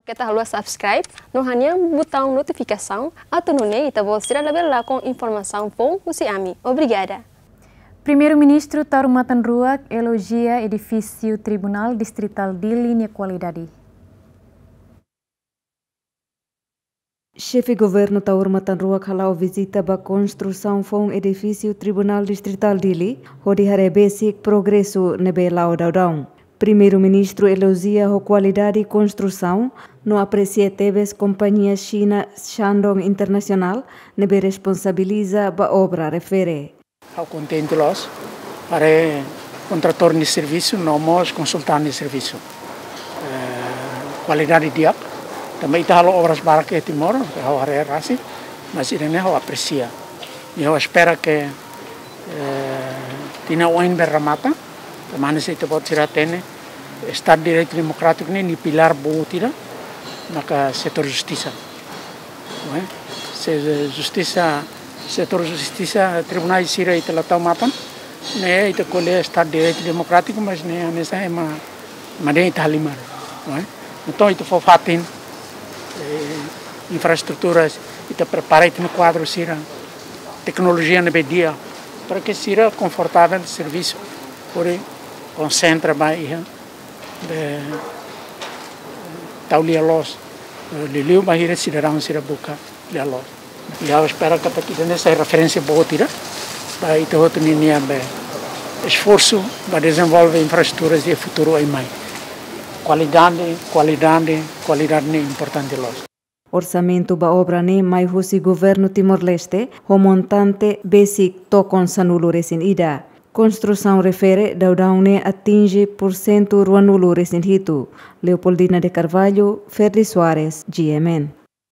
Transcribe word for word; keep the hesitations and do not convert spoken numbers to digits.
Keta haluha subscribe no hanehan butaun notifikasaun, atu nune'e ita-boot sira labele lakon informasaun foun husi ami. Obrigada. Primeiru-Ministru Taur Matan Ruak elojia edifísiu Tribunál Distritál Dili nia kualidade. Xefe Governu Taur Matan Ruak hala'o vizita ba konstrusaun foun edifísiu Tribunál Distritál Dili, hodi haree besik progresu ne'ebé la'o daudaun. Primeiru-Ministru elojia ho kualidade konstrusaun, no apresia tebes kompañia Xina Shandong Internasionál ne'ebé responsabiliza ba obra refere. Ha'u kontente loos, haree kontratór nia servisu, no mós konsultante nia servisu. Eh, kualidade di'ak, tanba ita halo obras barak iha Timor, ha'u haree rasik, mas ida-ne'e ha'u apresia. I ha'u espera ke, eh, tinan oin bele remata, tanba hanesan ita-boot sira hatene, Estadu Direitu Demokrátiku ne'e, nia pilár boot ida, maka setór justisa. Não é? Se justisa, setór justisa, tribunál sira ita la tau matan, ne'e ita ko'alia Estadu Direitu Demokrátiku, mas ne'e hanesan ema, ema dehan ita halimar, não é? Entaun, ita fó fatin, eh, infraestruturas, ita prepara ita-nia kuadru sira, teknolojia ne'ebé di'ak, para ke sira konfortavel servisu, hodi konsentra ba iha, be, tau lia-loos, eh, liuliu bainhira sidadaun sira buka lia-loos. I ha'u espera katak ida-ne'e sai referénsia boot ida ba ita hotu ninia, be, esforsu ba dezenvolve infraestruturas iha futuru oin mai. Kualidade, kualidade, kualidade ne'e importante loos. Orsamentu ba obra ne'e mai husi Governu Timor-Leste, ho montante besik tokon sanulu-resin-ida. Konstrusaun refere daudaun ne'e atinje pursentu ruanulu-resin-hitu. Leopoldina de Carvalho, Ferdi Soares, G M N.